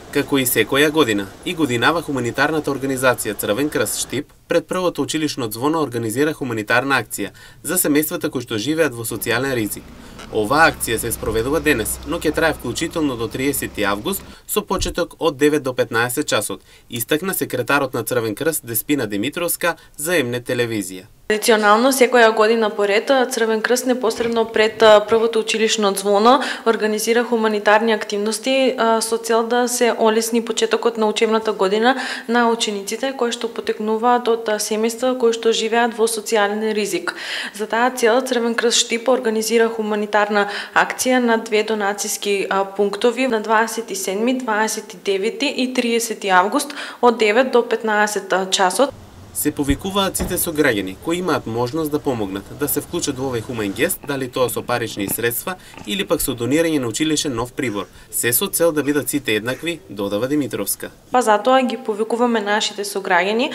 Како и секоја година, и годинава хуманитарната организација Црвен крст Штип пред првото училишно ѕвоно организира хуманитарна акција за семејствата кои што живеат во социјален ризик. Оваа акција се спроведува денес, но ќе трае вклучително до 30 август со почеток од 9 до 15 часот, истакна секретарот на Црвен крст Деспина Димитровска за МН телевизија. Традиционално секоја година поред Црвен крст непосредно пред првото училишно ѕвоно организира хуманитарни активности со цел да се олесни почетокот на учебната година на учениците кои што потекнуваат од семејства кои што живеат во социјален ризик. За таа цел Црвен крст Штип организира хуманитарна акција на две донациски пунктови на 27, 29 и 30 август од 9 до 15 часот. Се повикуваат сите сограѓани кои имаат можност да помогнат, да се вклучат во овој хумен гест, дали тоа со парични средства или пак со донирање на училишен нов прибор. Се со цел да бидат сите еднакви, додава Димитровска. Па затоа ги повикуваме нашите сограѓани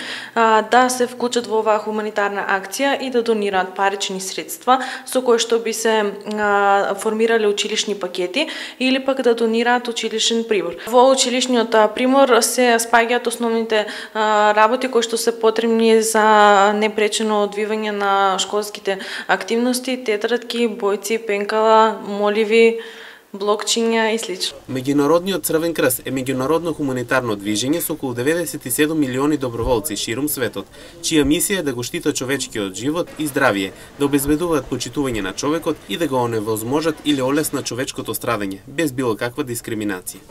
да се вклучат во оваа хуманитарна акција и да донираат парични средства со кои што би се формирале училишни пакети или пак да донираат училишен прибор. Во училишниот прибор се спаѓаат основните работи кои што се потребни за непречено одвивање на школските активности, тетрадки, бојци, пенкала, моливи, блокчиња и слично. Меѓународниот Црвен крст е меѓународно хуманитарно движење со околу 97 милиони доброволци ширум светот, чија мисија е да го штитат човечкиот живот и здравје, да обезбедуваат почитување на човекот и да го оневозможат или олеснат човечкото страдање, без било каква дискриминација.